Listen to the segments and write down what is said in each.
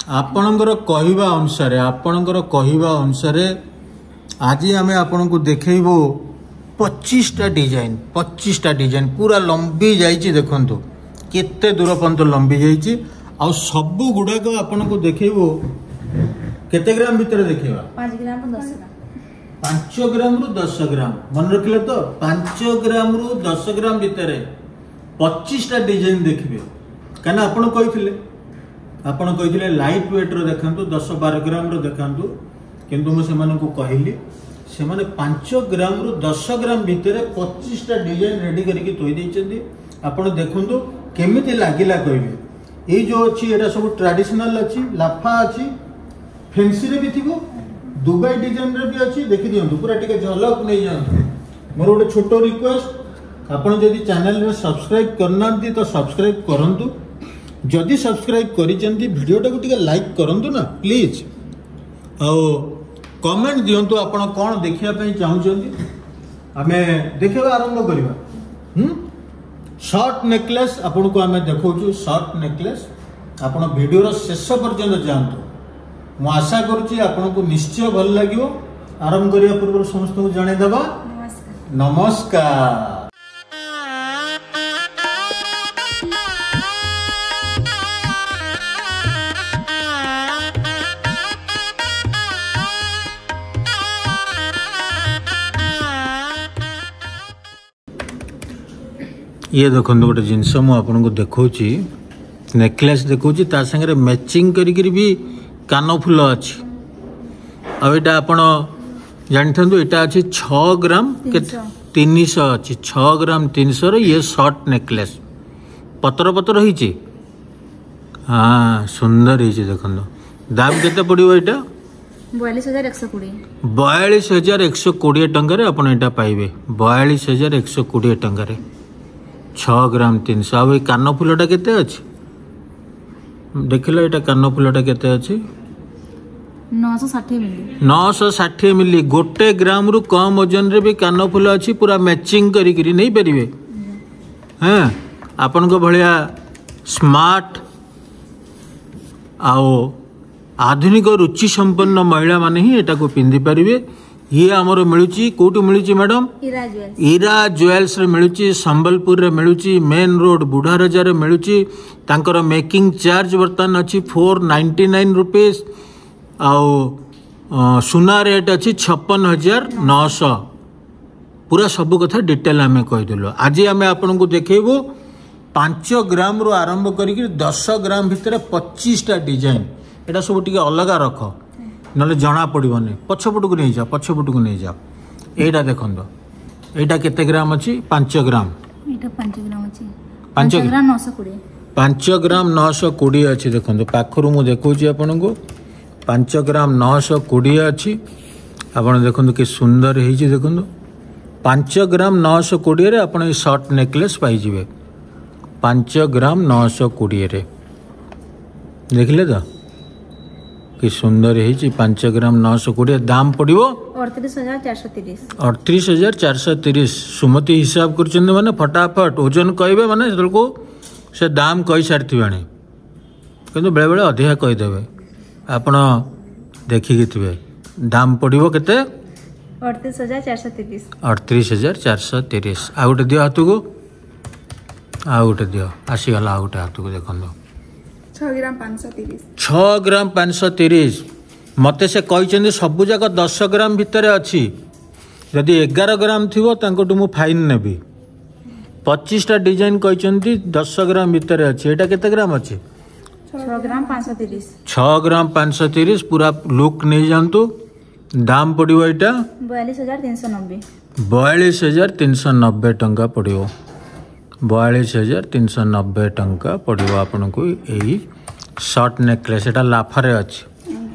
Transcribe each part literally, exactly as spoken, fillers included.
ଆପଣଙ୍କର କହିବା ଅନୁସାରେ ଆପଣଙ୍କର କହିବା ଅନୁସାରେ ଆଜି ଆମେ ଆପଣଙ୍କୁ ଦେଖେଇବୁ ପଚିଶଟା ଡିଜାଇନ ପଚିଶଟା ଡିଜାଇନ ପୁରା ଲମ୍ବି ଯାଇଛି ଦେଖନ୍ତୁ କେତେ ଦୂର ପର୍ଯ୍ୟନ୍ତ ଲମ୍ବି ଯାଇଛି ଆଉ ସବୁ ଗୁଡ଼ାକ ଆପଣଙ୍କୁ ଦେଖେଇବୁ କେତେ ଗ୍ରାମ ଭିତରେ ଦେଖେଇବା ପାଞ୍ଚ ଗ୍ରାମ ଦଶ ଗ୍ରାମ ପାଞ୍ଚ ଗ୍ରାମରୁ ଦଶ ଗ୍ରାମ ମନେ ରଖିଲେ ତ ପାଞ୍ଚ ଗ୍ରାମରୁ ଦଶ ଗ୍ରାମ ଭିତରେ ପଚିଶଟା ଡିଜାଇନ ଦେଖିବେ କାହିଁକିନା ଆପଣ କହିଥିଲେ ଆପଣ କହିଥିଲେ ଲାଇଟ୍ ୱେଟ୍ର ଦେଖାନ୍ତୁ ଦଶ ବାର ଗ୍ରାମର ଦେଖାନ୍ତୁ କିନ୍ତୁ ମୁଁ ସେମାନଙ୍କୁ କହିଲି ସେମାନେ ପାଞ୍ଚ ଗ୍ରାମରୁ ଦଶ ଗ୍ରାମ ଭିତରେ ପଚିଶଟା ଡିଜାଇନ ରେଡି କରିକି ଥୋଇ ଦେଇଛନ୍ତି ଆପଣ ଦେଖନ୍ତୁ କେମିତି ଲାଗିଲା କହିବେ ଏଇ ଯୋଉ ଅଛି ଏଇଟା ସବୁ ଟ୍ରାଡିସନାଲ ଅଛି ଲାଫା ଅଛି ଫେନ୍ସିରେ ବି ଥିବ ଦୁବାଇ ଡିଜାଇନରେ ବି ଅଛି ଦେଖିଦିଅନ୍ତୁ ପୁରା ଟିକେ ଝଲକ ନେଇଯାଆନ୍ତୁ ମୋର ଗୋଟେ ଛୋଟ ରିକ୍ୱେଷ୍ଟ ଆପଣ ଯଦି ଚ୍ୟାନେଲରେ ସବସ୍କ୍ରାଇବ କରିନାହାନ୍ତି ତ ସବସ୍କ୍ରାଇବ କରନ୍ତୁ ଯଦି ସବସ୍କ୍ରାଇବ କରିଛନ୍ତି ଭିଡ଼ିଓଟାକୁ ଟିକେ ଲାଇକ୍ କରନ୍ତୁ ନା ପ୍ଲିଜ୍ ଆଉ କମେଣ୍ଟ ଦିଅନ୍ତୁ ଆପଣ କ'ଣ ଦେଖିବା ପାଇଁ ଚାହୁଁଛନ୍ତି ଆମେ ଦେଖିବା ଆରମ୍ଭ କରିବା ହୁଁ ସର୍ଟ ନେକଲେସ୍ ଆପଣଙ୍କୁ ଆମେ ଦେଖାଉଛୁ ସର୍ଟ ନେକଲେସ୍ ଆପଣ ଭିଡ଼ିଓର ଶେଷ ପର୍ଯ୍ୟନ୍ତ ଯାଆନ୍ତୁ ମୁଁ ଆଶା କରୁଛି ଆପଣଙ୍କୁ ନିଶ୍ଚୟ ଭଲ ଲାଗିବ ଆରମ୍ଭ କରିବା ପୂର୍ବରୁ ସମସ୍ତଙ୍କୁ ଜଣେଇଦେବା ନମସ୍କାର ନମସ୍କାର ଇଏ ଦେଖନ୍ତୁ ଗୋଟେ ଜିନିଷ ମୁଁ ଆପଣଙ୍କୁ ଦେଖାଉଛି ନେକଲେସ୍ ଦେଖାଉଛି ତା ସାଙ୍ଗରେ ମ୍ୟାଚିଂ କରିକିରି ବି କାନଫୁଲ ଅଛି ଆଉ ଏଇଟା ଆପଣ ଜାଣିଥାନ୍ତୁ ଏଇଟା ଅଛି ଛଅ ଗ୍ରାମ କେତେ ତିନିଶହ ଅଛି ଛଅ ଗ୍ରାମ ତିନିଶହର ଇଏ ସର୍ଟ ନେକଲେସ୍ ପତର ପତର ହେଇଛି ହଁ ସୁନ୍ଦର ହେଇଛି ଦେଖନ୍ତୁ ଦାମ କେତେ ପଡ଼ିବ ଏଇଟା ବୟାଳିଶ ହଜାର ଏକଶହ କୋଡ଼ିଏ ବୟାଳିଶ ହଜାର ଏକଶହ କୋଡ଼ିଏ ଟଙ୍କାରେ ଆପଣ ଏଇଟା ପାଇବେ ବୟାଳିଶ ହଜାର ଏକଶହ କୋଡ଼ିଏ ଟଙ୍କାରେ ଛଅ ଗ୍ରାମ ତିନିଶହ ଆଉ ଏଇ କାନଫୁଲଟା କେତେ ଅଛି ଦେଖିଲ ଏଇଟା କାନଫୁଲଟା କେତେ ଅଛି ନଅଶହ ଷାଠିଏ ମିଲି ନଅଶହ ଷାଠିଏ ମିଲି ଗୋଟେ ଗ୍ରାମରୁ କମ୍ ଓଜନରେ ବି କାନଫୁଲ ଅଛି ପୁରା ମ୍ୟାଚିଂ କରିକିରି ନେଇପାରିବେ ହଁ ଆପଣଙ୍କ ଭଳିଆ ସ୍ମାର୍ଟ ଆଉ ଆଧୁନିକ ରୁଚି ସମ୍ପନ୍ନ ମହିଳାମାନେ ହିଁ ଏଟାକୁ ପିନ୍ଧିପାରିବେ ଇଏ ଆମର ମିଳୁଛି କୋଉଠି ମିଳୁଛି ମ୍ୟାଡ଼ାମ ଇରା ଜୁଏଲ୍ସ ଇରା ଜୁଏଲ୍ସରେ ମିଳୁଛି ସମ୍ବଲପୁରରେ ମିଳୁଛି ମେନ୍ ରୋଡ୍ ବୁଢ଼ାରଜାରେ ମିଳୁଛି ତାଙ୍କର ମେକିଂ ଚାର୍ଜ ବର୍ତ୍ତମାନ ଅଛି ଫୋର୍ ନାଇଣ୍ଟି ନାଇନ୍ ରୁପିସ୍ ଆଉ ଅ, ସୁନା ରେଟ୍ ଅଛି ଛପନ ହଜାର ନଅଶହ ପୁରା ସବୁ କଥା ଡିଟେଲ୍ ଆମେ କହିଦେଲୁ ଆଜି ଆମେ ଆପଣଙ୍କୁ ଦେଖେଇବୁ ପାଞ୍ଚ ଗ୍ରାମରୁ ଆରମ୍ଭ କରିକି ଦଶ ଗ୍ରାମ ଭିତରେ ପଚିଶଟା ଡିଜାଇନ ଏଇଟା ସବୁ ଟିକେ ଅଲଗା ରଖ ନହେଲେ ଜଣା ପଡ଼ିବନି ପଛପଟକୁ ନେଇଯାଅ ପଛପଟକୁ ନେଇଯାଅ ଏଇଟା ଦେଖନ୍ତୁ ଏଇଟା କେତେ ଗ୍ରାମ ଅଛି ପାଞ୍ଚ ଗ୍ରାମ ଏଇଟା ପାଞ୍ଚ ଗ୍ରାମ ଅଛି ପାଞ୍ଚ ପାଞ୍ଚ ଗ୍ରାମ ନଅଶହ କୋଡ଼ିଏ ପାଞ୍ଚ ଗ୍ରାମ ନଅଶହ କୋଡ଼ିଏ ଅଛି ଦେଖନ୍ତୁ ପାଖରୁ ମୁଁ ଦେଖାଉଛି ଆପଣଙ୍କୁ ପାଞ୍ଚ ଗ୍ରାମ ନଅଶହ କୋଡ଼ିଏ ଅଛି ଆପଣ ଦେଖନ୍ତୁ କି ସୁନ୍ଦର ହେଇଛି ଦେଖନ୍ତୁ ପାଞ୍ଚ ଗ୍ରାମ ନଅଶହ କୋଡ଼ିଏରେ ଆପଣ ଏଇ ସର୍ଟ ନେକଲେସ୍ ପାଇଯିବେ ପାଞ୍ଚ ଗ୍ରାମ ନଅଶହ କୋଡ଼ିଏରେ ଦେଖିଲେ ତ କି ସୁନ୍ଦର ହେଇଛି ପାଞ୍ଚ ଗ୍ରାମ ନଅଶହ କୋଡ଼ିଏ ଦାମ ପଡ଼ିବ ଅଠତିରିଶ ହଜାର ଚାରିଶହ ତିରିଶ ଅଠତିରିଶ ହଜାର ଚାରିଶହ ତିରିଶ ସୁମତି ହିସାବ କରୁଛନ୍ତି ମାନେ ଫଟାଫଟ ଓଜନ କହିବେ ମାନେ ସେତେବେଳକୁ ସେ ଦାମ କହିସାରିଥିବେଣି କିନ୍ତୁ ବେଳେବେଳେ ଅଧିକା କହିଦେବେ ଆପଣ ଦେଖିକି ଥିବେ ଦାମ ପଡ଼ିବ କେତେ ଅଠତିରିଶ ହଜାର ଚାରିଶହ ତିରିଶ ଅଠତିରିଶ ହଜାର ଚାରିଶହ ତିରିଶ ଆଉ ଗୋଟେ ଦିଅ ହାତକୁ ଆଉ ଗୋଟେ ଦିଅ ଆସିଗଲା ଆଉ ଗୋଟେ ହାତକୁ ଦେଖନ୍ତୁ ଛଅ ଗ୍ରାମ ପାଞ୍ଚଶହ ତିରିଶ ଛଅ ଗ୍ରାମ ପାଞ୍ଚଶହ ତିରିଶ ମୋତେ ସେ କହିଛନ୍ତି ସବୁ ଯାକ ଦଶ ଗ୍ରାମ ଭିତରେ ଅଛି ଯଦି ଏଗାର ଗ୍ରାମ ଥିବ ତାଙ୍କଠୁ ମୁଁ ଫାଇନ୍ ନେବି ପଚିଶଟା ଡିଜାଇନ କହିଛନ୍ତି ଦଶ ଗ୍ରାମ ଭିତରେ ଅଛି ଏଇଟା କେତେ ଗ୍ରାମ ଅଛି ଛଅ ଗ୍ରାମ ପାଞ୍ଚଶହ ତିରିଶ ଛଅ ଗ୍ରାମ ପାଞ୍ଚଶହ ତିରିଶ ପୁରା ଲୁକ୍ ନେଇଯାଆନ୍ତୁ ଦାମ ପଡ଼ିବ ଏଇଟା ବୟାଳିଶ ହଜାର ତିନିଶହ ନବେ ବୟାଳିଶ ହଜାର ତିନିଶହ ନବେ ଟଙ୍କା ପଡ଼ିବ ବୟାଳିଶ ହଜାର ତିନିଶହ ନବେ ଟଙ୍କା ପଡ଼ିବ ଆପଣଙ୍କୁ ଏଇ ସର୍ଟ ନେକଲେସ୍ ଏଇଟା ଲାଫାରେ ଅଛି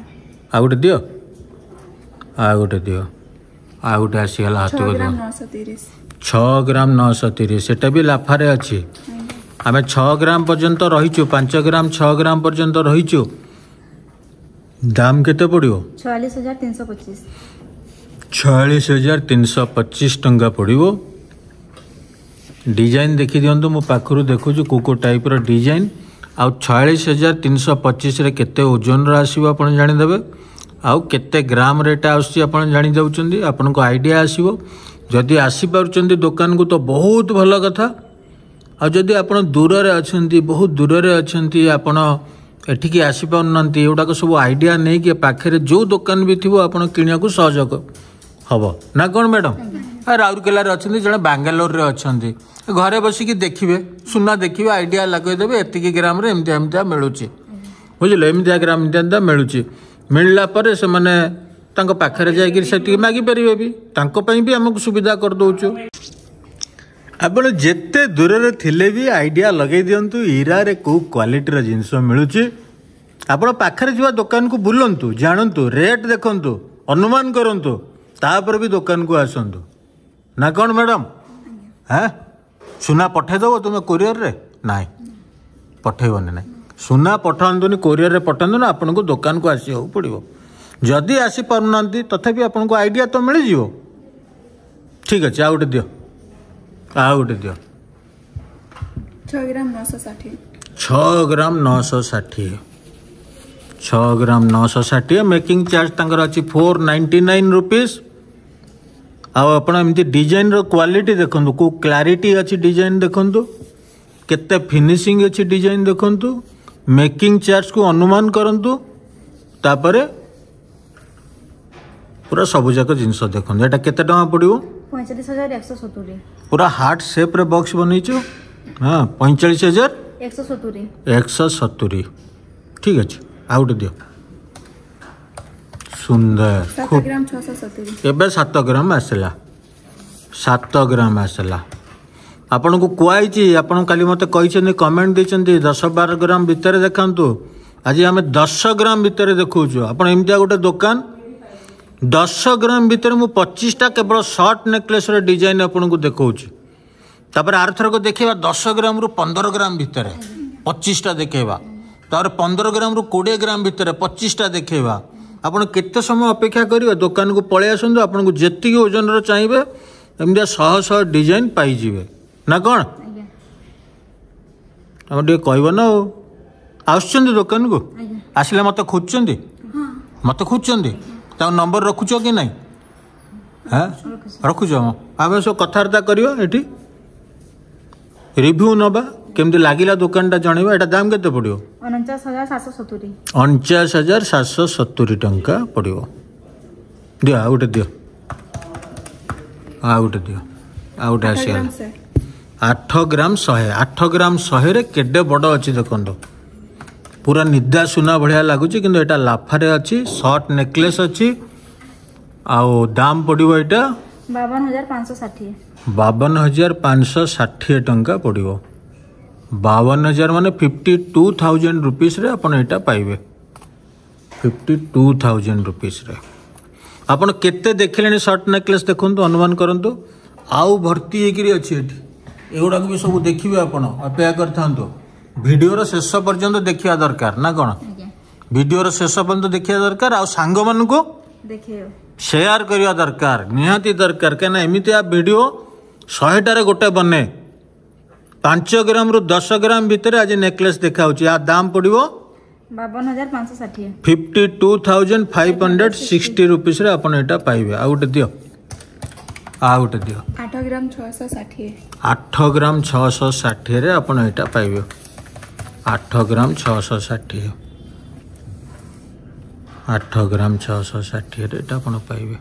ଆଉ ଗୋଟେ ଦିଅ ଆଉ ଗୋଟେ ଦିଅ ଆଉ ଗୋଟେ ଆସିଗଲା ଛଅ ହାତକୁ ଗ୍ରାମ ଦିଅ ନଅଶହ ତିରିଶ ଛଅ ଗ୍ରାମ ନଅଶହ ତିରିଶ ସେଟା ବି ଲାଫାରେ ଅଛି ଆମେ ଛଅ ଗ୍ରାମ ପର୍ଯ୍ୟନ୍ତ ରହିଛୁ ପାଞ୍ଚ ଗ୍ରାମ ଛଅ ଗ୍ରାମ ପର୍ଯ୍ୟନ୍ତ ରହିଛୁ ଦାମ କେତେ ପଡ଼ିବ ଛୟାଳିଶ ହଜାର ତିନିଶହ ପଚିଶ ଛୟାଳିଶ ହଜାର ତିନିଶହ ପଚିଶ ଟଙ୍କା ପଡ଼ିବ ଡିଜାଇନ ଦେଖିଦିଅନ୍ତୁ ମୁଁ ପାଖରୁ ଦେଖୁଛି କେଉଁ କେଉଁ ଟାଇପ୍ର ଡିଜାଇନ ଆଉ ଛୟାଳିଶ ହଜାର ତିନିଶହ ପଚିଶରେ କେତେ ଓଜନର ଆସିବ ଆପଣ ଜାଣିଦେବେ ଆଉ କେତେ ଗ୍ରାମରେ ଏଇଟା ଆସୁଛି ଆପଣ ଜାଣିଯାଉଛନ୍ତି ଆପଣଙ୍କୁ ଆଇଡ଼ିଆ ଆସିବ ଯଦି ଆସିପାରୁଛନ୍ତି ଦୋକାନକୁ ତ ବହୁତ ଭଲ କଥା ଆଉ ଯଦି ଆପଣ ଦୂରରେ ଅଛନ୍ତି ବହୁତ ଦୂରରେ ଅଛନ୍ତି ଆପଣ ଏଠିକି ଆସିପାରୁନାହାନ୍ତି ଏଗୁଡ଼ାକ ସବୁ ଆଇଡ଼ିଆ ନେଇକି ପାଖରେ ଯେଉଁ ଦୋକାନ ବି ଥିବ ଆପଣ କିଣିବାକୁ ସହଜ ହେବ ନା କ'ଣ ମ୍ୟାଡ଼ାମ୍ ରାଉରକେଲାରେ ଅଛନ୍ତି ଜଣେ ବାଙ୍ଗାଲୋରରେ ଅଛନ୍ତି ଘରେ ବସିକି ଦେଖିବେ ସୁନା ଦେଖିବେ ଆଇଡ଼ିଆ ଲଗେଇଦେବେ ଏତିକି ଗ୍ରାମରେ ଏମିତିଆ ଏମିତିଆ ମିଳୁଛି ବୁଝିଲେ ଏମିତିଆ ଗ୍ରାମ ଏମିତିଆ ଏମିତିଆ ମିଳୁଛି ମିଳିଲା ପରେ ସେମାନେ ତାଙ୍କ ପାଖରେ ଯାଇକିରି ସେତିକି ମାଗିପାରିବେ ବି ତାଙ୍କ ପାଇଁ ବି ଆମକୁ ସୁବିଧା କରିଦେଉଛୁ ଆପଣ ଯେତେ ଦୂରରେ ଥିଲେ ବି ଆଇଡ଼ିଆ ଲଗେଇ ଦିଅନ୍ତୁ ଇରାରେ କେଉଁ କ୍ୱାଲିଟିର ଜିନିଷ ମିଳୁଛି ଆପଣ ପାଖରେ ଥିବା ଦୋକାନକୁ ବୁଲନ୍ତୁ ଜାଣନ୍ତୁ ରେଟ୍ ଦେଖନ୍ତୁ ଅନୁମାନ କରନ୍ତୁ ତାପରେ ବି ଦୋକାନକୁ ଆସନ୍ତୁ ନା କ'ଣ ମ୍ୟାଡ଼ାମ୍ ହାଁ ସୁନା ପଠେଇଦେବ ତୁମେ କୋରିଅରରେ ନାଇଁ ପଠେଇବନି ନାଇଁ ସୁନା ପଠାନ୍ତୁନି କୋରିଅରରେ ପଠାନ୍ତୁନି ଆପଣଙ୍କୁ ଦୋକାନକୁ ଆସିବାକୁ ପଡ଼ିବ ଯଦି ଆସିପାରୁନାହାନ୍ତି ତଥାପି ଆପଣଙ୍କୁ ଆଇଡ଼ିଆ ତ ମିଳିଯିବ ଠିକ୍ ଅଛି ଆଉ ଗୋଟେ ଦିଅ ଆଉ ଗୋଟେ ଦିଅ ଛଅ ଗ୍ରାମ ନଅଶହ ଷାଠିଏ ଛଅ ଗ୍ରାମ ନଅଶହ ଷାଠିଏ ଛଅ ଗ୍ରାମ ନଅଶହ ଷାଠିଏ ମେକିଂ ଚାର୍ଜ ତାଙ୍କର ଅଛି ଫୋର୍ ନାଇଣ୍ଟି ନାଇନ୍ ରୁପିସ୍ ଆଉ ଆପଣ ଏମିତି ଡିଜାଇନର କ୍ୱାଲିଟି ଦେଖନ୍ତୁ କେଉଁ କ୍ଲାରିଟି ଅଛି ଡିଜାଇନ ଦେଖନ୍ତୁ କେତେ ଫିନିସିଂ ଅଛି ଡିଜାଇନ ଦେଖନ୍ତୁ ମେକିଂ ଚାର୍ଜକୁ ଅନୁମାନ କରନ୍ତୁ ତାପରେ ପୁରା ସବୁଯାକ ଜିନିଷ ଦେଖନ୍ତୁ ଏଇଟା କେତେ ଟଙ୍କା ପଡ଼ିବ ପଇଁଚାଳିଶ ହଜାର ଏକଶହ ସତୁରି ପୁରା ହାର୍ଟ ସେପ୍ରେ ବକ୍ସ ବନେଇଛୁ ହଁ ପଇଁଚାଳିଶ ହଜାର ଏକଶହ ସତୁରି ଏକଶହ ସତୁରି ଠିକ୍ ଅଛି ଆଉ ଗୋଟେ ଦିଅ ସୁନ୍ଦର ସାତ ଖୁବ୍ ଗ୍ରାମ ଛଅଶହ ସତୁରି ଏବେ ସାତ ଗ୍ରାମ ଆସିଲା ସାତ ଗ୍ରାମ ଆସିଲା ଆପଣଙ୍କୁ କୁହାହେଇଛି ଆପଣ କାଲି ମୋତେ କହିଛନ୍ତି କମେଣ୍ଟ ଦେଇଛନ୍ତି ଦଶ ବାର ଗ୍ରାମ ଭିତରେ ଦେଖାନ୍ତୁ ଆଜି ଆମେ ଦଶ ଗ୍ରାମ ଭିତରେ ଦେଖାଉଛୁ ଆପଣ ଏମିତିଆ ଗୋଟେ ଦୋକାନ ଦଶ ଗ୍ରାମ ଭିତରେ ମୁଁ ପଚିଶଟା କେବଳ ସର୍ଟ ନେକଲେସ୍ର ଡିଜାଇନ୍ ଆପଣଙ୍କୁ ଦେଖାଉଛି ତାପରେ ଆରଥରକ ଦେଖେଇବା ଦଶ ଗ୍ରାମରୁ ପନ୍ଦର ଗ୍ରାମ ଭିତରେ ପଚିଶଟା ଦେଖେଇବା ତାପରେ ପନ୍ଦର ଗ୍ରାମରୁ କୋଡ଼ିଏ ଗ୍ରାମ ଭିତରେ ପଚିଶଟା ଦେଖେଇବା ଆପଣ କେତେ ସମୟ ଅପେକ୍ଷା କରିବେ ଦୋକାନକୁ ପଳେଇ ଆସନ୍ତୁ ଆପଣଙ୍କୁ ଯେତିକି ଓଜନର ଚାହିଁବେ ଏମିତିଆ ଶହ ଶହ ଡିଜାଇନ୍ ପାଇଯିବେ ନା କ'ଣ ଆଜ୍ଞା ଆମେ ଟିକେ କହିବ ନା ଆଉ ଆସୁଛନ୍ତି ଦୋକାନକୁ ଆଜ୍ଞା ଆସିଲେ ମୋତେ ଖୋଜୁଛନ୍ତି ମୋତେ ଖୋଜୁଛନ୍ତି ତାଙ୍କ ନମ୍ବର ରଖୁଛ କି ନାହିଁ ହାଁ ରଖୁଛି ରଖୁଛ ଆମେ ସବୁ କଥାବାର୍ତ୍ତା କରିବା ଏଠି ରିଭ୍ୟୁ ନେବା କେମିତି ଲାଗିଲା ଦୋକାନଟା ଜଣେଇବା ଏଇଟା ଦାମ କେତେ ପଡ଼ିବ ଅଣଚାଶ ହଜାର ସାତଶହ ସତୁରି ଅଣଚାଶ ହଜାର ସାତଶହ ସତୁରି ଟଙ୍କା ପଡ଼ିବ ଦିଅ ଆଉ ଗୋଟେ ଦିଅ ଆଉ ଗୋଟେ ଦିଅ ଆଉ ଗୋଟେ ଆଠ ଆସିଗଲା ଗ୍ରାମ ଶହେ ଆଠ ଗ୍ରାମ ଶହେ ଆଠ ଗ୍ରାମ ଶହେରେ କେଡ଼େ ବଡ଼ ଅଛି ଦେଖନ୍ତୁ ପୁରା ନିଦା ସୁନା ଭଳିଆ ଲାଗୁଛି କିନ୍ତୁ ଏଇଟା ଲାଫାରେ ଅଛି ସର୍ଟ ନେକଲେସ୍ ଅଛି ଆଉ ଦାମ ପଡ଼ିବ ଏଇଟା ବାବନ ହଜାର ପାଞ୍ଚଶହ ଷାଠିଏ ବାବନ ହଜାର ପାଞ୍ଚଶହ ଷାଠିଏ ଟଙ୍କା ପଡ଼ିବ ବାବନ ହଜାର ମାନେ ଫିଫ୍ଟି ଟୁ ଥାଉଜେଣ୍ଡ ରୁପିସ୍ରେ ଆପଣ ଏଇଟା ପାଇବେ ଫିଫ୍ଟି ଟୁ ଥାଉଜେଣ୍ଡ ରୁପିସ୍ରେ ଆପଣ କେତେ ଦେଖିଲେଣି ସର୍ଟ ନେକଲେସ୍ ଦେଖନ୍ତୁ ଅନୁମାନ କରନ୍ତୁ ଆଉ ଭର୍ତ୍ତି ହେଇକିରି ଅଛି ଏଠି ଏଗୁଡ଼ାକ ବି ସବୁ ଦେଖିବେ ଆପଣ ଅପେକ୍ଷା କରିଥାନ୍ତୁ ଭିଡ଼ିଓର ଶେଷ ପର୍ଯ୍ୟନ୍ତ ଦେଖିବା ଦରକାର ନା କ'ଣ ଆଜ୍ଞା ଭିଡ଼ିଓର ଶେଷ ପର୍ଯ୍ୟନ୍ତ ଦେଖିବା ଦରକାର ଆଉ ସାଙ୍ଗମାନଙ୍କୁ ଦେଖେଇବ ସେୟାର କରିବା ଦରକାର ନିହାତି ଦରକାର କାହିଁକିନା ଏମିତିଆ ଭିଡ଼ିଓ ଶହେଟାରେ ଗୋଟେ ବନେ ପାଞ୍ଚ ଗ୍ରାମରୁ ଦଶ ଗ୍ରାମ ଭିତରେ ଆଜି ନେକଲେସ୍ ଦେଖାଉଛି ୟା ଦାମ ପଡ଼ିବ ବାବନ ହଜାର ପାଞ୍ଚଶହ ଷାଠିଏ fifty two thousand five hundred sixty ରୁପିସ୍ରେ ଆପଣ ଏଇଟା ପାଇବେ ଆଉ ଗୋଟେ ଦିଅ ଆଉ ଗୋଟେ ଦିଅ ଆଠ ଗ୍ରାମ ଛଅଶହ ଷାଠିଏ ଆଠ ଗ୍ରାମ ଛଅଶହ ଷାଠିଏରେ ଆପଣ ଏଇଟା ପାଇବେ ଆଠ ଗ୍ରାମ ଛଅଶହ ଷାଠିଏ ଆଠ ଗ୍ରାମ ଛଅଶହ ଷାଠିଏରେ ଏଇଟା ଆପଣ ପାଇବେ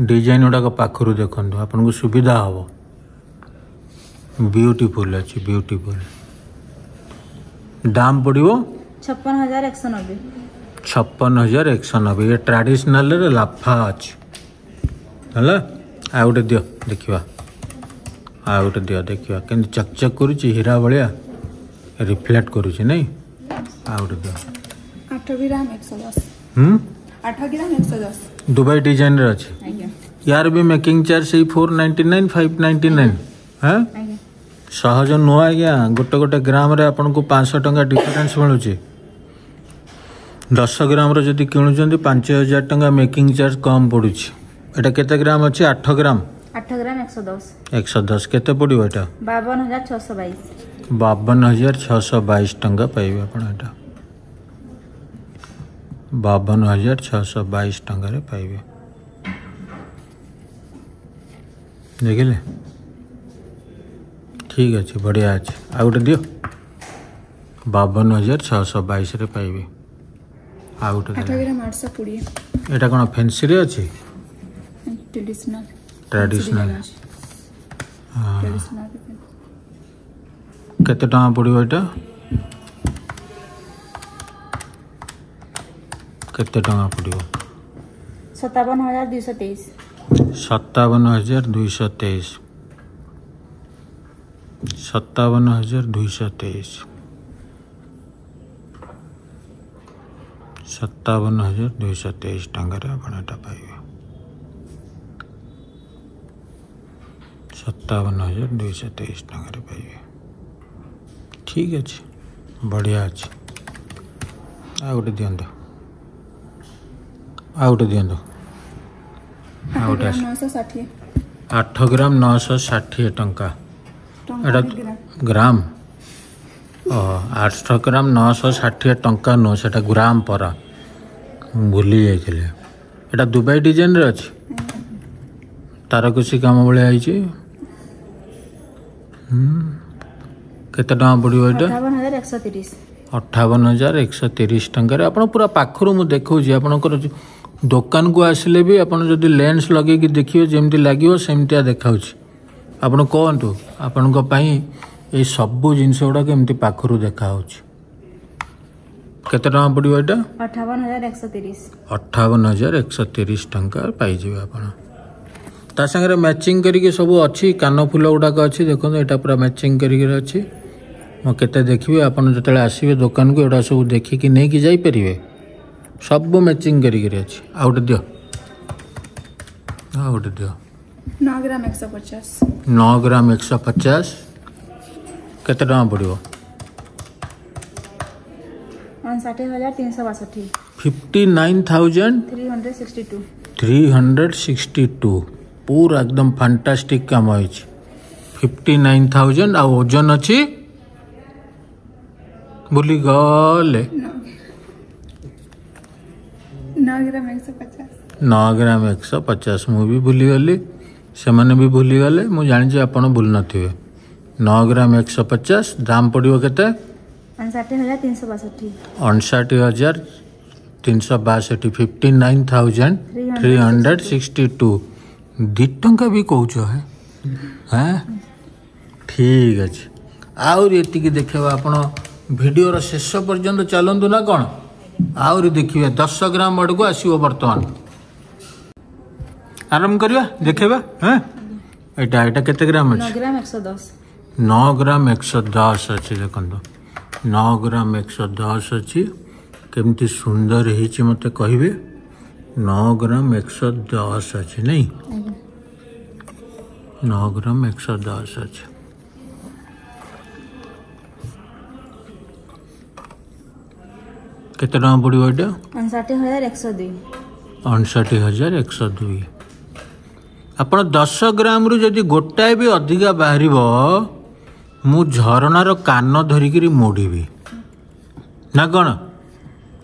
ଡିଜାଇନ୍ ଗୁଡ଼ାକ ପାଖରୁ ଦେଖନ୍ତୁ ଆପଣଙ୍କୁ ସୁବିଧା ହେବ ବିୟୁଟିଫୁଲ୍ ଅଛି ବିୟୁଟିଫୁଲ୍ ଦାମ ପଡ଼ିବ ଛପନ ହଜାର ଏକଶହ ନବେ ଛପନ ହଜାର ଏକଶହ ନବେ ଇଏ ଟ୍ରାଡ଼ିସନାଲରେ ଲାଫା ଅଛି ହେଲା ଆଉ ଗୋଟେ ଦିଅ ଦେଖିବା ଆଉ ଗୋଟେ ଦିଅ ଦେଖିବା କେମିତି ଚକଚକ୍ କରୁଛି ହୀରା ଭଳିଆ ରିଫ୍ଲେକ୍ଟ କରୁଛି ନାଇଁ ଆଉ ଗୋଟେ ଦିଅ ଆଠ ଗ୍ରାମ ଏକଶହ ଦଶ ହୁଁ ଆଠ ଗ୍ରାମ ଏକଶହ ଦଶ ଦୁବାଇ ଡିଜାଇନରେ ଅଛି ଆଜ୍ଞା ୟାର ବି ମେକିଂ ଚାର୍ଜ ସେଇ four ninety nine five ninety nine ହଁ ଆଜ୍ଞା ସହଜ ନୁହଁ ଆଜ୍ଞା ଗୋଟେ ଗୋଟେ ଗ୍ରାମରେ ଆପଣଙ୍କୁ ପାଞ୍ଚଶହ ଟଙ୍କା ଡିଫରେନ୍ସ ମିଳୁଛି ଦଶ ଗ୍ରାମର ଯଦି କିଣୁଛନ୍ତି ପାଞ୍ଚ ହଜାର ଟଙ୍କା ମେକିଂ ଚାର୍ଜ କମ୍ ପଡ଼ୁଛି ଏଇଟା କେତେ ଗ୍ରାମ ଅଛି ଆଠ ଗ୍ରାମ ଆଠ ଗ୍ରାମ ଏକଶହ ଦଶ ଏକଶହ ଦଶ କେତେ ପଡ଼ିବ ଏଇଟା ବାବନ ହଜାର ଛଅଶହ ବାଇଶ ବାବନ ହଜାର ଛଅଶହ ବାଇଶ ଟଙ୍କା ପାଇବେ ଆପଣ ଏଇଟା ବାବନ ହଜାର ଛଅଶହ ବାଇଶ ଟଙ୍କାରେ ପାଇବେ ଦେଖିଲେ ଠିକ୍ ଅଛି ବଢ଼ିଆ ଅଛି ଆଉ ଗୋଟେ ଦିଅ ବାବନ ହଜାର ଛଅଶହ ବାଇଶରେ ପାଇବେ ଆଉ ଗୋଟେ ଆଠ ଦେଲେ। ଗ୍ରାମ ଆଠଶହ କୋଡ଼ିଏ ଏଇଟା କ'ଣ ଫେନ୍ସିରେ ଅଛି ଟ୍ରେଡିସନାଲ ଟ୍ରାଡିସନାଲ ଟ୍ରେଡିସନାଲ କେତେ ଟଙ୍କା ପଡ଼ିବ ଏଇଟା କେତେ ଟଙ୍କା ପଡ଼ିବ ସତାବନ ହଜାର ଦୁଇଶହ ତେଇଶ ସତାବନ ହଜାର ଦୁଇଶହ ତେଇଶ ସତାବନ ହଜାର ଦୁଇଶହ ତେଇଶ ସତାବନ ହଜାର ଦୁଇଶହ ତେଇଶ ଟଙ୍କାରେ ଆପଣ ଏଇଟା ପାଇବେ ସତାବନ ହଜାର ଦୁଇଶହ ତେଇଶ ଟଙ୍କାରେ ପାଇବେ ଠିକ୍ ଅଛି ବଢ଼ିଆ ଅଛି ଆଉ ଗୋଟେ ଦିଅନ୍ତୁ ଆଉ ଗୋଟେ ଦିଅନ୍ତୁ ଆଠ ଆଉ ଗୋଟେ ଗ୍ରାମ ଆସ ନଅଶହ ଷାଠିଏ ଆଠ ଗ୍ରାମ ନଅଶହ ଷାଠିଏ ଟଙ୍କା ଟଙ୍କା ଏଇଟା ଗ୍ରାମ ଗ୍ରାମ ଓହୋ ଆଠ ଗ୍ରାମ ନଅଶହ ଷାଠିଏ ଟଙ୍କା ନୁହଁ ସେଟା ଗ୍ରାମ ପରା ମୁଁ ଭୁଲି ଯାଇଥିଲି ଏଇଟା ଦୁବାଇ ଡିଜାଇନରେ ଅଛି ତାରକସି କାମ ଭଳିଆ ହେଇଛି ହୁଁ କେତେ ଟଙ୍କା ପଡ଼ିବ ଏଇଟା ଅଠାବନ ହଜାର ଏକଶହ ତିରିଶ ଅଠାବନ ହଜାର ଏକଶହ ତିରିଶ ଟଙ୍କାରେ ଆପଣ ପୁରା ପାଖରୁ ମୁଁ ଦେଖାଉଛି ଆପଣଙ୍କର ଯୋଉ ଦୋକାନକୁ ଆସିଲେ ବି ଆପଣ ଯଦି ଲେନ୍ସ ଲଗେଇକି ଦେଖିବେ ଯେମିତି ଲାଗିବ ସେମିତିଆ ଦେଖାଉଛି ଆପଣ କୁହନ୍ତୁ ଆପଣଙ୍କ ପାଇଁ ଏଇ ସବୁ ଜିନିଷ ଗୁଡ଼ାକ ଏମିତି ପାଖରୁ ଦେଖାହେଉଛି କେତେ ଟଙ୍କା ପଡ଼ିବ ଏଇଟା ଅଠାବନ ହଜାର ଏକଶହ ତିରିଶ ଅଠାବନ ହଜାର ଏକଶହ ତିରିଶ ଟଙ୍କା ପାଇଯିବେ ଆପଣ ତା ସାଙ୍ଗରେ ମ୍ୟାଚିଂ କରିକି ସବୁ ଅଛି କାନଫୁଲ ଗୁଡ଼ାକ ଅଛି ଦେଖନ୍ତୁ ଏଇଟା ପୁରା ମ୍ୟାଚିଂ କରିକି ଅଛି ମୁଁ କେତେ ଦେଖିବି ଆପଣ ଯେତେବେଳେ ଆସିବେ ଦୋକାନକୁ ଏଗୁଡ଼ା ସବୁ ଦେଖିକି ନେଇକି ଯାଇପାରିବେ ସବୁ ମ୍ୟାଚିଂ କରିକିରି ଅଛି ଆଉ ଗୋଟେ ଦିଅ ଆଉ ଗୋଟେ ଦିଅ ନଅ ଗ୍ରାମ ଏକଶହ ପଚାଶ ନଅ ଗ୍ରାମ ଏକଶହ ପଚାଶ କେତେ ଟଙ୍କା ପଡ଼ିବ ଅଣଷାଠି ହଜାର ତିନିଶହ ବାଷଠି fifty nine thousand three hundred sixty two three hundred sixty two ପୁରା ଏକଦମ ଫାଣ୍ଟାଷ୍ଟିକ୍ କାମ ହେଇଛି ଫିଫ୍ଟି ନାଇନ୍ ଥାଉଜେଣ୍ଡ ଆଉ ଓଜନ ଅଛି ଭୁଲିଗଲେ ନଅ ଗ୍ରାମ ଏକଶହ ପଚାଶ ନଅ ଗ୍ରାମ ଏକଶହ ପଚାଶ ମୁଁ ବି ଭୁଲିଗଲି ସେମାନେ ବି ଭୁଲିଗଲେ ମୁଁ ଜାଣିଛି ଆପଣ ଭୁଲି ନଥିବେ ନଅ ଗ୍ରାମ ଏକଶହ ପଚାଶ ଦାମ ପଡ଼ିବ କେତେ ଅଣଷାଠି ହଜାର ତିନିଶହ ବାଷଠି ଅଣଷାଠି ହଜାର ତିନିଶହ ବାଷଠି fifty nine thousand three hundred sixty two ଦୁଇ ଟଙ୍କା ବି କହୁଛ ହେ ହେଁ ଠିକ୍ ଅଛି ଆହୁରି ଏତିକି ଦେଖିବା ଆପଣ ଭିଡ଼ିଓର ଶେଷ ପର୍ଯ୍ୟନ୍ତ ଚାଲନ୍ତୁ ନା କ'ଣ ଆହୁରି ଦେଖିବେ ଦଶ ଗ୍ରାମ ଆଡ଼କୁ ଆସିବ ବର୍ତ୍ତମାନ ଆରମ୍ଭ କରିବା ଦେଖେଇବା ହଁ ଏଇଟା ଏଇଟା କେତେ ଗ୍ରାମ ନଅ ଅଛି ଗ୍ରାମ ଏକଶହ ଦଶ ନଅ ଗ୍ରାମ ଏକଶହ ଦଶ ଅଛି ଦେଖନ୍ତୁ ନଅ ଗ୍ରାମ ଏକଶହ ଦଶ ଅଛି କେମିତି ସୁନ୍ଦର ହେଇଛି ମୋତେ କହିବେ ନଅ ଗ୍ରାମ ଏକଶହ ଦଶ ଅଛି ନାଇଁ ଆଜ୍ଞା ନଅ ଗ୍ରାମ ଏକଶହ ଦଶ ଅଛି କେତେ ଟଙ୍କା ପଡ଼ିବ ଏଇଟା ଅଣଷାଠି ହଜାର ଏକଶହ ଦୁଇ ଅଣଷଠି ହଜାର ଏକଶହ ଦୁଇ ଆପଣ ଦଶ ଗ୍ରାମରୁ ଯଦି ଗୋଟାଏ ବି ଅଧିକା ବାହାରିବ ମୁଁ ଝରଣାର କାନ ଧରିକିରି ମୋଡ଼ିବି ନା କ'ଣ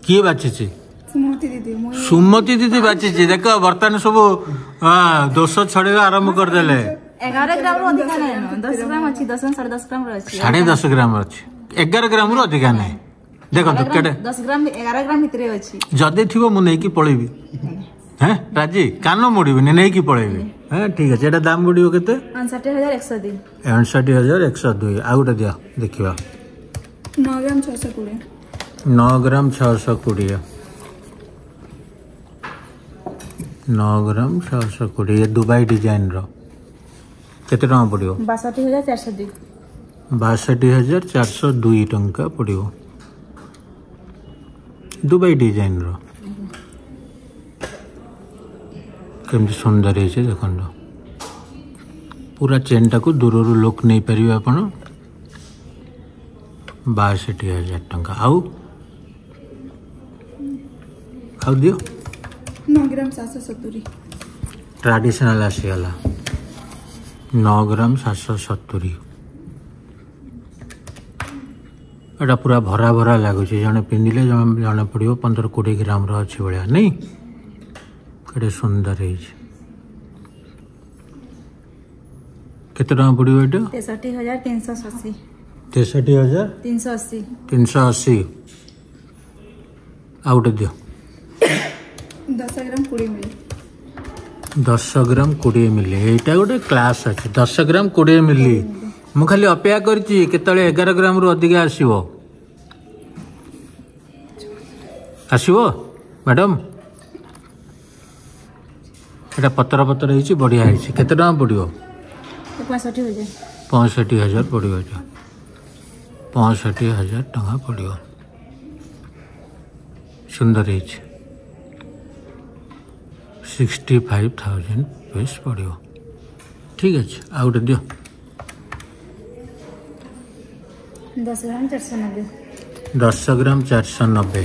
କିଏ ବାଛିଛି ସୁମତି ଦିଦି ମୁଁ ସୁମତି ଦିଦି ବାଛିଛି ଦେଖ ବର୍ତ୍ତମାନ ସବୁ ହଁ, ଦୋଷ ଛଡ଼େଇବା ଆରମ୍ଭ କରିଦେଲେ ଏଗାର ଗ୍ରାମରୁ ଅଧିକା ନାହିଁ ଦଶ ଗ୍ରାମ ଅଛି ଦଶ ସାଢ଼େ ଦଶ ଗ୍ରାମର ଅଛି ସାଢ଼େ ଦଶ ଗ୍ରାମ ଅଛି ଏଗାର ଗ୍ରାମରୁ ଅଧିକା ନାହିଁ ଦେଖନ୍ତୁ କେତେ ଦଶ ଗ୍ରାମ ଏଗାର ଗ୍ରାମ ଭିତରେ ଅଛି ଯଦି ଥିବ ମୁଁ ନେଇକି ପଳେଇବି ହେଁ ରାଜି କାନ ମୋଡ଼ିବିନି ନେଇକି ପଳେଇବି ହଁ ଠିକ୍ ଅଛି ଏଇଟା ଦାମ ପଡ଼ିବ କେତେ ଅଣଷାଠି ହଜାର ଏକଶହ ଦୁଇ ଅଣଷଠି ହଜାର ଏକଶହ ଦୁଇ ଆଉ ଗୋଟେ ଦିଅ ଦେଖିବା ନଅ ଗ୍ରାମ ଛଅଶହ କୋଡ଼ିଏ ନଅ ଗ୍ରାମ ଛଅଶହ କୋଡ଼ିଏ ନଅ ଗ୍ରାମ ଛଅଶହ କୋଡ଼ିଏ ଦୁବାଇ ଡିଜାଇନର କେତେ ଟଙ୍କା ପଡ଼ିବ ବାଷଠି ହଜାର ଚାରିଶହ ଦୁଇ ବାଷଠି ହଜାର ଚାରିଶହ ଦୁଇ ଟଙ୍କା ପଡ଼ିବ ଦୁବାଇ ଡିଜାଇନର କେମିତି ସୁନ୍ଦର ହେଇଛି ଦେଖନ୍ତୁ ପୁରା ଚେନ୍ଟାକୁ ଦୂରରୁ ଲୁକ୍ ନେଇପାରିବେ ଆପଣ ବାଷଠି ହଜାର ଟଙ୍କା ଆଉ ଆଉ ଦିଅ ନଅ ଗ୍ରାମ ସାତଶହ ସତୁରି ଟ୍ରାଡିସନାଲ ଆସିଗଲା ନଅ ଗ୍ରାମ ସାତଶହ ସତୁରି ଏଇଟା ପୁରା ଭରା ଭରା ଲାଗୁଛି ଜଣେ ପିନ୍ଧିଲେ ଜଣେ ଜଣା ପଡ଼ିବ ପନ୍ଦର କୋଡ଼ିଏ ଗ୍ରାମର ଅଛି ଭଳିଆ ନାଇଁ କେତେ ସୁନ୍ଦର ହେଇଛି କେତେ ଟଙ୍କା ପଡ଼ିବ ଏଇଟା ତେଷଠି ହଜାର ତିନିଶହ ଅଶୀ ତେଷଠି ହଜାର ତିନିଶହ ଅଶୀ ତିନିଶହ ଅଶୀ ଆଉ ଗୋଟେ ଦିଅ ଦଶ ଗ୍ରାମ କୋଡ଼ିଏ ମିଲି ଦଶ ଗ୍ରାମ କୋଡ଼ିଏ ମିଲି ଏଇଟା ଗୋଟେ କ୍ଲାସ୍ ଅଛି ଦଶ ଗ୍ରାମ କୋଡ଼ିଏ ମିଲି ମୁଁ ଖାଲି ଅପେକ୍ଷା କରିଛି କେତେବେଳେ ଏଗାର ଗ୍ରାମରୁ ଅଧିକା ଆସିବ ଆସିବ ମ୍ୟାଡ଼ାମ୍ ଏଇଟା ପତର ପତର ହେଇଛି ବଢ଼ିଆ ହେଇଛି କେତେ ଟଙ୍କା ପଡ଼ିବ ପଞ୍ଚଷଠି ହଜାର ପଞ୍ଚଷଠି ହଜାର ପଡ଼ିବ ଏଇଟା ପଞ୍ଚଷଠି ହଜାର ଟଙ୍କା ପଡ଼ିବ ସୁନ୍ଦର ହେଇଛି ସିକ୍ସଟି ଫାଇଭ୍ ଥାଉଜେଣ୍ଡ ରୁପିସ୍ ପଡ଼ିବ ଠିକ୍ ଅଛି ଆଉ ଗୋଟେ ଦିଅ ଦଶ ଗ୍ରାମ ଚାରିଶହ ନବେ ଦଶ ଗ୍ରାମ ଚାରିଶହ ନବେ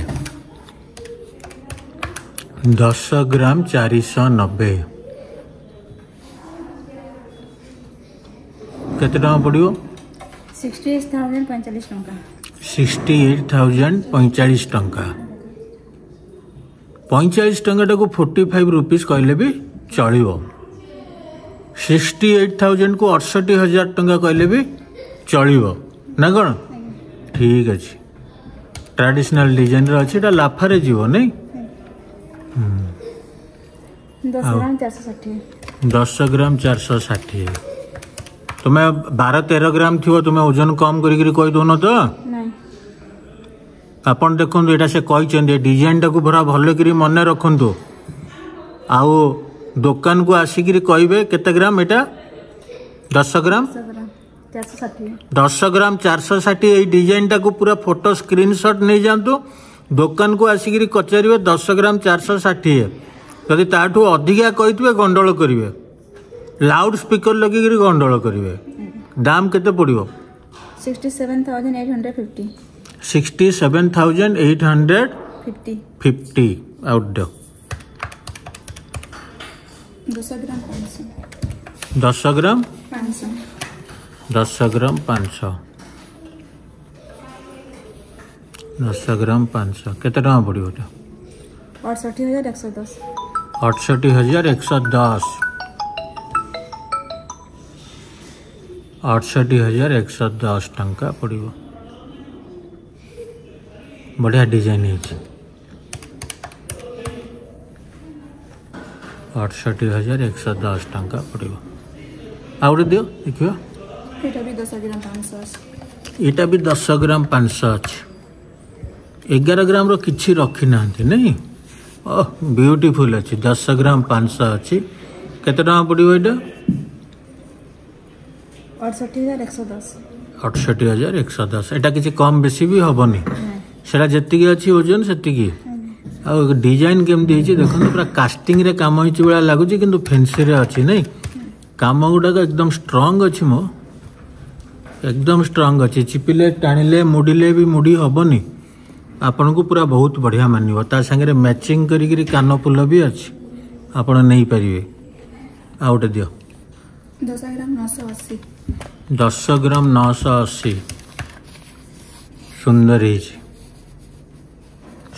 ଦଶ ଗ୍ରାମ ଚାରିଶହ ନବେ କେତେ ଟଙ୍କା ପଡ଼ିବ ସିକ୍ସଟି ଏଇଟ୍ ଥାଉଜେଣ୍ଡ ପଇଁଚାଳିଶ ଟଙ୍କା ସିକ୍ସଟି ଏଇଟ୍ ଥାଉଜେଣ୍ଡ ପଇଁଚାଳିଶ ଟଙ୍କା ପଇଁଚାଳିଶ ଟଙ୍କାଟାକୁ ଫୋର୍ଟି ଫାଇଭ୍ ରୁପିସ୍ କହିଲେ ବି ଚଳିବ ସିକ୍ସଟି ଏଇଟ୍ ଥାଉଜେଣ୍ଡକୁ ଅଠଷଠି ହଜାର ଟଙ୍କା କହିଲେ ବି ଚଳିବ ନା କ'ଣ ଠିକ୍ ଅଛି ଟ୍ରାଡିସନାଲ ଡିଜାଇନର ଅଛି ଏଇଟା ଲାଫାରେ ଯିବ ନାଇଁ ଦଶ ଗ୍ରାମ ଚାରିଶହ ଷାଠିଏ ଦଶ ଗ୍ରାମ ଚାରିଶହ ଷାଠିଏ ତୁମେ ବାର ତେର ଗ୍ରାମ ଥିବ ତୁମେ ଓଜନ କମ୍ କରିକିରି କହିଦେଉନ ତ ନାଇଁ ଆପଣ ଦେଖନ୍ତୁ ଏଇଟା ସେ କହିଛନ୍ତି ଏ ଡିଜାଇନଟାକୁ ପୁରା ଭଲ କରି ମନେ ରଖନ୍ତୁ ଆଉ ଦୋକାନକୁ ଆସିକିରି କହିବେ କେତେ ଗ୍ରାମ ଏଇଟା ଦଶ ଗ୍ରାମ ଦଶ ଗ୍ରାମ ଚାରିଶହ ଷାଠିଏ ଦଶ ଗ୍ରାମ ଚାରିଶହ ଷାଠିଏ ଏଇ ଡିଜାଇନଟାକୁ ପୁରା ଫଟୋ ସ୍କ୍ରିନସଟ୍ ନେଇଯାଆନ୍ତୁ ଦୋକାନକୁ ଆସିକିରି ପଚାରିବେ ଦଶ ଗ୍ରାମ ଚାରିଶହ ଷାଠିଏ ଯଦି ତାଠୁ ଅଧିକା କହିଥିବେ ଗଣ୍ଡଗୋଳ କରିବେ ଲାଉଡ୍ ସ୍ପିକର ଲଗେଇକିରି ଗଣ୍ଡଗୋଳ କରିବେ ଦାମ କେତେ ପଡ଼ିବ sixty seven thousand eight hundred fifty sixty seven thousand eight hundred fifty fifty ଆଉ ଦିଅ ଦଶ ଗ୍ରାମ ପାଞ୍ଚଶହ ଦଶ ଗ୍ରାମ ପାଞ୍ଚଶହ ଦଶ ଗ୍ରାମ ପାଞ୍ଚଶହ ଦଶ ଗ୍ରାମ ପାଞ୍ଚଶହ କେତେ ଟଙ୍କା ପଡ଼ିବ ଏଇଟା ଅଠଷଠି ହଜାର ଏକଶହ ଦଶ ଅଠଷଠି ହଜାର ଏକଶହ ଦଶ ଅଠଷଠି ହଜାର ଏକଶହ ଦଶ ଟଙ୍କା ପଡ଼ିବ ବଢ଼ିଆ ଡିଜାଇନ ହେଇଛି ଅଠଷଠି ହଜାର ଏକଶହ ଦଶ ଟଙ୍କା ପଡ଼ିବ ଆଉ ଗୋଟେ ଦିଅ ଦେଖିବା ଏଇଟା ବି ଦଶ ଗ୍ରାମ ପାଞ୍ଚଶହ ଅଛି ଏଇଟା ବି ଦଶ ଗ୍ରାମ ପାଞ୍ଚଶହ ଅଛି ଏଗାର ଗ୍ରାମର କିଛି ରଖିନାହାନ୍ତି ନାଇଁ ଓହ ବିୟୁଟିଫୁଲ୍ ଅଛି ଦଶ ଗ୍ରାମ ପାଞ୍ଚଶହ ଅଛି କେତେ ଟଙ୍କା ପଡ଼ିବ ଏଇଟା ଅଠଷଠି ହଜାର ଏକଶହ ଦଶ ଅଠଷଠି ହଜାର ଏକଶହ ଦଶ ଏଇଟା କିଛି କମ୍ ବେଶୀ ବି ହେବନି ନାଇଁ ସେଟା ଯେତିକି ଅଛି ଓଜନ ସେତିକି ଆଉ ଡିଜାଇନ କେମିତି ହେଇଛି ଦେଖନ୍ତୁ ପୁରା କାଷ୍ଟିଂରେ କାମ ହେଇଛି ଭଳିଆ ଲାଗୁଛି କିନ୍ତୁ ଫେନ୍ସିରେ ଅଛି ନାଇଁ କାମ ଗୁଡ଼ାକ ଏକଦମ ଷ୍ଟ୍ରଙ୍ଗ ଅଛି ମୋ ଏକଦମ ଷ୍ଟ୍ରଙ୍ଗ ଅଛି ଚିପିଲେ ଟାଣିଲେ ମୁଡ଼ିଲେ ବି ମୁଡ଼ି ହେବନି ଆପଣଙ୍କୁ ପୁରା ବହୁତ ବଢ଼ିଆ ମାନିବ ତା ସାଙ୍ଗରେ ମ୍ୟାଚିଂ କରିକିରି କାନଫୁଲ ବି ଅଛି ଆପଣ ନେଇପାରିବେ ଆଉ ଗୋଟେ ଦିଅ ଦଶ ଗ୍ରାମ ନଅଶହ ଅଶୀ ଦଶ ଗ୍ରାମ ନଅଶହ ଅଶୀ ସୁନ୍ଦର ହେଇଛି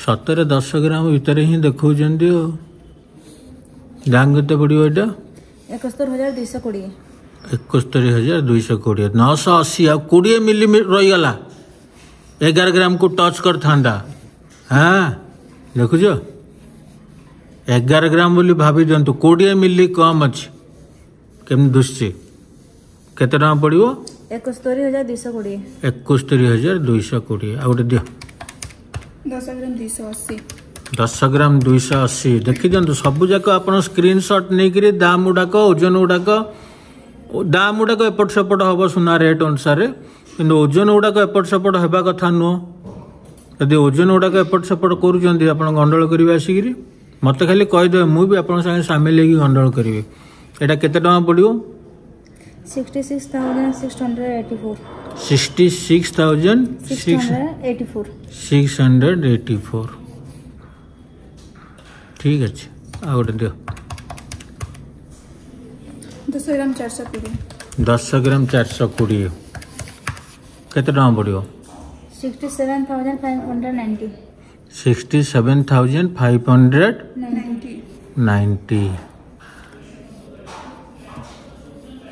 ସତରେ ଦଶ ଗ୍ରାମ ଭିତରେ ହିଁ ଦେଖାଉଛନ୍ତି ଆଉ ଦାମ କେତେ ପଡ଼ିବ ଏଇଟା ଏକସ୍ତରୀ ହଜାର ଦୁଇଶହ କୋଡ଼ିଏ ଏକସ୍ତରୀ ହଜାର ଦୁଇଶହ କୋଡ଼ିଏ ନଅଶହ ଅଶୀ ଆଉ କୋଡ଼ିଏ ମିଲି ରହିଗଲା ଏଗାର ଗ୍ରାମକୁ ଟଚ୍ କରିଥାନ୍ତା ହଁ ଦେଖୁଛ ଏଗାର ଗ୍ରାମ ବୋଲି ଭାବି ଦିଅନ୍ତୁ କୋଡ଼ିଏ ମିଲି କମ୍ ଅଛି କେମିତି ଦୁଶୁଛି କେତେ ଟଙ୍କା ପଡ଼ିବ ଏକସ୍ତରୀ ହଜାର ଦୁଇଶହ କୋଡ଼ିଏ ଏକସ୍ତରୀ ହଜାର ଦୁଇଶହ କୋଡ଼ିଏ ଆଉ ଗୋଟେ ଦିଅ ଦଶ ଗ୍ରାମ ଦୁଇଶହ ଅଶୀ ଦଶ ଗ୍ରାମ ଦୁଇଶହ ଅଶୀ ଦେଖିଦିଅନ୍ତୁ ସବୁଯାକ ଆପଣ ସ୍କ୍ରିନସଟ୍ ନେଇକିରି ଦାମ ଗୁଡ଼ାକ ଓଜନ ଗୁଡ଼ାକ ଦାମ ଗୁଡ଼ାକ ଏପଟ ସେପଟ ହେବ ସୁନା ରେଟ୍ ଅନୁସାରେ କିନ୍ତୁ ଓଜନ ଗୁଡ଼ାକ ଏପଟ ସେପଟ ହେବା କଥା ନୁହଁ ଯଦି ଓଜନ ଗୁଡ଼ାକ ଏପଟ ସେପଟ କରୁଛନ୍ତି ଆପଣ ଗଣ୍ଡଗୋଳ କରିବେ ଆସିକିରି ମୋତେ ଖାଲି କହିଦେବେ ମୁଁ ବି ଆପଣଙ୍କ ସାଙ୍ଗେ ସାମିଲ ହେଇକି ଗଣ୍ଡଗୋଳ କରିବି ଏଇଟା କେତେ ଟଙ୍କା ପଡ଼ିବ sixty six thousand six hundred eighty four sixty six thousand six six hundred eighty four six hundred eighty four ଠିକ୍ ଅଛି ଆଉ ଗୋଟେ ଦିଅ ଦଶ ଗ୍ରାମ ଚାରିଶହ କୋଡ଼ିଏ ଦଶ ଗ୍ରାମ ଚାରିଶହ କୋଡ଼ିଏ କେତେ ଟଙ୍କା ପଡ଼ିବ Sixty seven thousand five hundred ninety. Sixty seven thousand five hundred ninety. Ninety.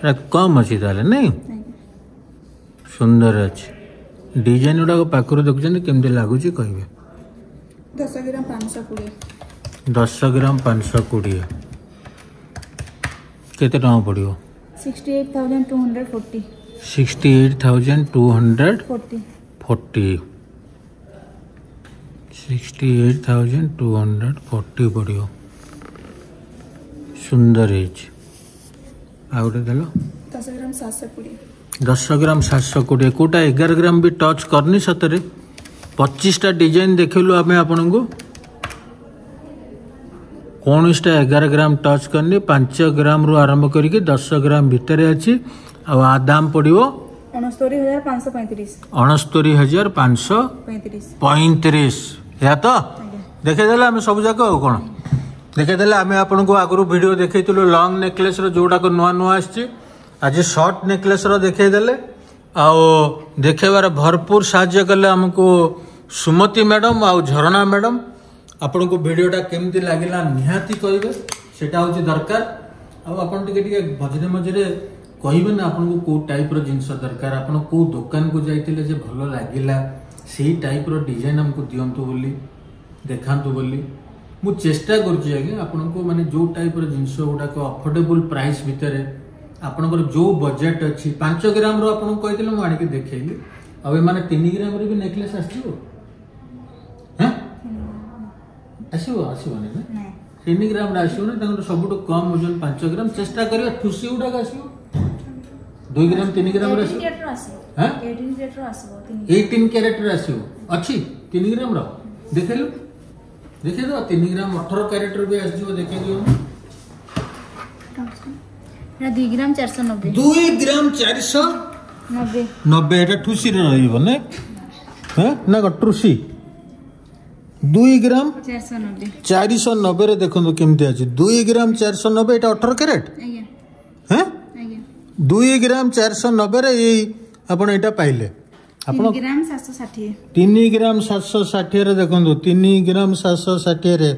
ଏଟା କମ୍ ଅଛି ତାହେଲେ ନାଇଁ? ସୁନ୍ଦର ଅଛି ଡିଜାଇନ ଗୁଡ଼ାକ, ପାଖରୁ ଦେଖୁଛନ୍ତି, କେମିତି ଲାଗୁଛି କହିବେ। ଦଶ ଗ୍ରାମ ପାଞ୍ଚଶହ କୋଡ଼ିଏ। ଦଶ ଗ୍ରାମ ପାଞ୍ଚଶହ କୋଡ଼ିଏ କେତେ ଟଙ୍କା ପଡ଼ିବ? Sixty eight thousand two hundred forty. Sixty eight thousand two hundred forty. Forty. Sixty eight thousand two hundred forty ପଡ଼ିବ। ସୁନ୍ଦର ହେଇଛି। ଆଉ ଗୋଟେ ଦେଲ। ଦଶ ଗ୍ରାମ ସାତଶହ କୋଡ଼ିଏ। ଦଶ ଗ୍ରାମ ସାତଶହ କୋଡ଼ିଏ। କେଉଁଟା ଏଗାର ଗ୍ରାମ ବି ଟଚ୍ କରିନି ସତରେ। ପଚିଶଟା ଡିଜାଇନ ଦେଖେଇଲୁ ଆମେ ଆପଣଙ୍କୁ, କୌଣସିଟା ଏଗାର ଗ୍ରାମ ଟଚ୍ କରିନି। ପାଞ୍ଚ ଗ୍ରାମରୁ ଆରମ୍ଭ କରିକି ଦଶ ଗ୍ରାମ ଭିତରେ ଅଛି। ଆଉ ଆ ଦାମ ପଡ଼ିବ ଅଣସ୍ତରୀ ହଜାର ପାଞ୍ଚଶହ ପଇଁତିରିଶ। ଅଣସ୍ତରୀ ହଜାର ପାଞ୍ଚଶହ ପଇଁତିରିଶ। ପଇଁତିରିଶ। ଏହା ତ ଆଜ୍ଞା। ଦେଖେଇଦେଲେ ଆମେ ସବୁ ଯାକ, ଆଉ କ'ଣ ଦେଖେଇଦେଲେ ଆମେ ଆପଣଙ୍କୁ? ଆଗରୁ ଭିଡ଼ିଓ ଦେଖେଇଥିଲୁ ଲଙ୍ଗ ନେକଲେସ୍ର, ଯୋଉଟାକ ନୂଆ ନୂଆ ଆସିଛି। ଆଜି ସର୍ଟ ନେକଲେସ୍ର ଦେଖେଇଦେଲେ, ଆଉ ଦେଖେଇବାର ଭରପୁର ସାହାଯ୍ୟ କଲେ ଆମକୁ ସୁମତି ମ୍ୟାଡ଼ମ୍ ଆଉ ଝରଣା ମ୍ୟାଡ଼ମ୍। ଆପଣଙ୍କୁ ଭିଡ଼ିଓଟା କେମିତି ଲାଗିଲା ନିହାତି କହିବେ, ସେଇଟା ହେଉଛି ଦରକାର। ଆଉ ଆପଣ ଟିକେ ଟିକେ ମଝିରେ ମଝିରେ କହିବେ ନା ଆପଣଙ୍କୁ କେଉଁ ଟାଇପ୍ର ଜିନିଷ ଦରକାର, ଆପଣ କେଉଁ ଦୋକାନକୁ ଯାଇଥିଲେ ଯେ ଭଲ ଲାଗିଲା, ସେଇ ଟାଇପ୍ର ଡିଜାଇନ୍ ଆମକୁ ଦିଅନ୍ତୁ ବୋଲି, ଦେଖାନ୍ତୁ ବୋଲି। ମୁଁ ଚେଷ୍ଟା କରୁଛି ଆଜ୍ଞା ଆପଣଙ୍କୁ ମାନେ ଯେଉଁ ଟାଇପ୍ର ଜିନିଷ ଗୁଡ଼ାକ ଅଫୋର୍ଡେବୁଲ୍ ପ୍ରାଇସ୍ ଭିତରେ, ଆପଣଙ୍କର ଯେଉଁ ବଜେଟ୍ ଅଛି। ପାଞ୍ଚ ଗ୍ରାମରୁ ଆପଣଙ୍କୁ କହିଥିଲେ, ମୁଁ ଆଣିକି ଦେଖେଇଲି। ଆଉ ଏମାନେ ତିନି ଗ୍ରାମରେ ବି ନେକଲେସ୍ ଆସିଯିବ? ହେଁ, ଆସିବ? ଆସିବନି ନା? ନାଇଁ। ତିନି ଗ୍ରାମରେ ଆସିବନି, ତାଙ୍କର ସବୁଠୁ କମ୍ ଓଜନ ପାଞ୍ଚ ଗ୍ରାମ। ଚେଷ୍ଟା କରିବା। ଠୁସି ଗୁଡ଼ାକ ଆସିବ ଦୁଇ ଗ୍ରାମ, ତିନି ଗ୍ରାମରେ ଆସିବ। ଏଇଟିନ୍ କ୍ୟାରେଟ୍ର ଆସିବ। ହେଁ? ଏଇଟିନ୍ କ୍ୟାରେଟ୍ର ଆସିବ ତିନି। ଏଇଟିନ୍ କ୍ୟାରେଟ୍ରେ ଆସିବ। ଅଛି ତିନି ଗ୍ରାମର? ଦେଖେଇଲୁ, ଦେଖେଇଦେବା। ତିନି ଗ୍ରାମ ଅଠର କ୍ୟାରେଟ୍ର ବି ଆସିଯିବ, ଦେଖେଇ ଦିଅନ୍ତୁ। ଏଟା ଦୁଇ ଗ୍ରାମ ଚାରିଶହ ନବେ। ଦୁଇ ଗ୍ରାମ ଚାରିଶହ ନବେ। ନବେ। ଏଟା ଠୁସିରେ ରହିବ ନା? ହଁ ନା କଣ ଟ୍ରୁସି? ଦୁଇ ଗ୍ରାମ ଚାରିଶହ ନବେ। ଚାରିଶହ ନବେରେ ଦେଖନ୍ତୁ କେମିତି ଅଛି। ଦୁଇ ଗ୍ରାମ ଚାରିଶହ ନବେ, ଏଇଟା ଅଠର କ୍ୟାରେଟ୍। ଆଜ୍ଞା। ହଁ। ଆଜ୍ଞା। ଦୁଇ ଗ୍ରାମ ଚାରିଶହ ନବେରେ ଏଇ ଆପଣ ଏଇଟା ପାଇଲେ ଆପଣ। ତିନି ଗ୍ରାମ ସାତଶହ ଷାଠିଏ। ତିନି ଗ୍ରାମ ସାତଶହ ଷାଠିଏରେ ଦେଖନ୍ତୁ, ତିନି ଗ୍ରାମ ସାତଶହ ଷାଠିଏରେ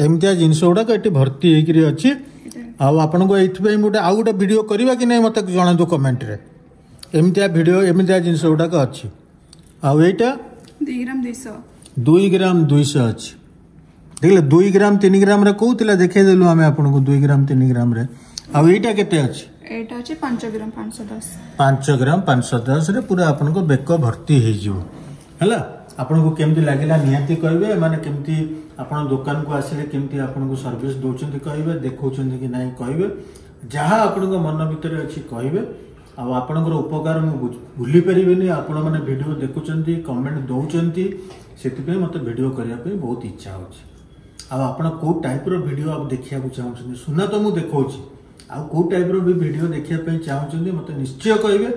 ଏମିତିଆ ଜିନିଷ ଗୁଡ଼ାକ ଏଠି ଭର୍ତ୍ତି ହେଇକିରି ଅଛି। ଆଉ ଆପଣଙ୍କୁ ଏଇଥିପାଇଁ ଗୋଟେ ଆଉ ଗୋଟେ ଭିଡ଼ିଓ କରିବା କି ନାହିଁ ମୋତେ ଜଣାନ୍ତୁ କମେଣ୍ଟରେ। ଏମିତିଆ ଭିଡ଼ିଓ, ଏମିତିଆ ଜିନିଷ ଗୁଡ଼ାକ ଅଛି। ଆଉ ଏଇଟା? ଦୁଇ ଗ୍ରାମ ଦୁଇଶହ। ଦୁଇ ଗ୍ରାମ ଦୁଇଶହ ଅଛି। ଦେଖିଲେ, ଦୁଇ ଗ୍ରାମ ତିନି ଗ୍ରାମରେ କୋଉଥିଲା ଦେଖେଇଦେଲୁ ଆମେ ଆପଣଙ୍କୁ ଦୁଇ ଗ୍ରାମ ତିନି ଗ୍ରାମରେ। ଆଉ ଏଇଟା କେତେ ଅଛି? ଏଇଟା ଅଛି ପାଞ୍ଚ ଗ୍ରାମ ପାଞ୍ଚଶହ ଦଶ। ପାଞ୍ଚ ଗ୍ରାମ ପାଞ୍ଚଶହ ଦଶରେ ପୁରା ଆପଣଙ୍କ ବେକ ଭର୍ତ୍ତି ହେଇଯିବ। ହେଲା, ଆପଣଙ୍କୁ କେମିତି ଲାଗିଲା ନିହାତି କହିବେ। ଏମାନେ କେମିତି ଆପଣ ଦୋକାନକୁ ଆସିଲେ କେମିତି ଆପଣଙ୍କୁ ସର୍ଭିସ ଦେଉଛନ୍ତି କହିବେ, ଦେଖାଉଛନ୍ତି କି ନାହିଁ କହିବେ, ଯାହା ଆପଣଙ୍କ ମନ ଭିତରେ ଅଛି କହିବେ। ଆଉ ଆପଣଙ୍କର ଉପକାର ମୁଁ ବୁଝ- ଭୁଲି ପାରିବିନି। ଆପଣମାନେ ଭିଡ଼ିଓ ଦେଖୁଛନ୍ତି, କମେଣ୍ଟ ଦେଉଛନ୍ତି, ସେଥିପାଇଁ ମୋତେ ଭିଡ଼ିଓ କରିବା ପାଇଁ ବହୁତ ଇଚ୍ଛା ହେଉଛି। ଆଉ ଆପଣ କେଉଁ ଟାଇପ୍ର ଭିଡ଼ିଓ ଆଉ ଦେଖିବାକୁ ଚାହୁଁଛନ୍ତି? ସୁନା ତ ମୁଁ ଦେଖାଉଛି, ଆଉ କେଉଁ ଟାଇପ୍ର ବି ଭିଡ଼ିଓ ଦେଖିବା ପାଇଁ ଚାହୁଁଛନ୍ତି ମୋତେ ନିଶ୍ଚୟ କହିବେ।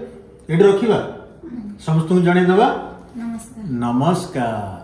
ଏଇଠି ରଖିବା, ସମସ୍ତଙ୍କୁ ଜଣେଇଦେବା। ନମସ୍କାର। ନମସ୍କାର।